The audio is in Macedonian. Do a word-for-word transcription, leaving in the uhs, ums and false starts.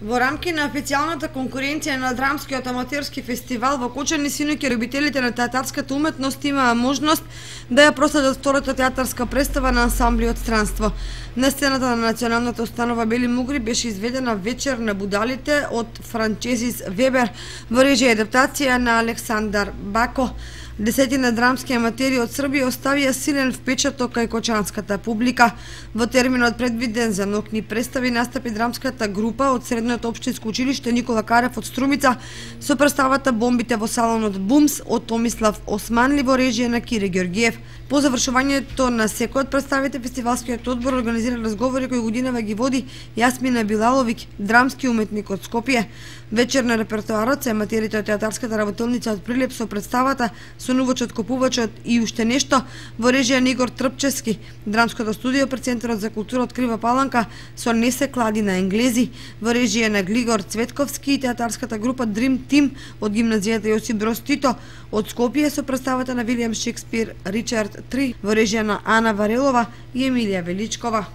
Во рамки на официјалната конкуренција на драмскиот аматерски фестивал во Кочани синоќа љубителите на театарската уметност имаа можност да ја проследат втората театарска представа на ансамблиот Странство. На сцената на националната установа Бели Мугри беше изведена Вечер на будалите од Франчезис Вебер во режија и адаптација на Александар Бако. Десетина драмски аматери од Србија оставија силен впечаток кај кочанската публика. Во терминот предвиден за ноќни представи настапи драмската група од Средното општинско училиште Никола Карев од Струмица со представата Бомбите во салонот Бумс од Томислав Османли во режија на Кире Ѓорѓиев. По завршувањето на секој од представите, фестивалскиот одбор организира разговори кои годинава ги води Јасмина Билаловиќ, драмски уметник од Скопје. Вечер на репертоарот се аматерите од театарската работилница од Прилеп со представата Сонувачот, Копувачот и уште нешто во режија на Игор Трпчевски. Драмското студио при Центарот за култура од Крива Паланка со Не се клади на енглези во режија на Глигор Цветковски и театарската група Dream Team од гимназијата Јосип Броз Тито од Скопје со представата на Вилијам Шекспир Ричард три во режија на Ана Варелова и Емилија Величкова.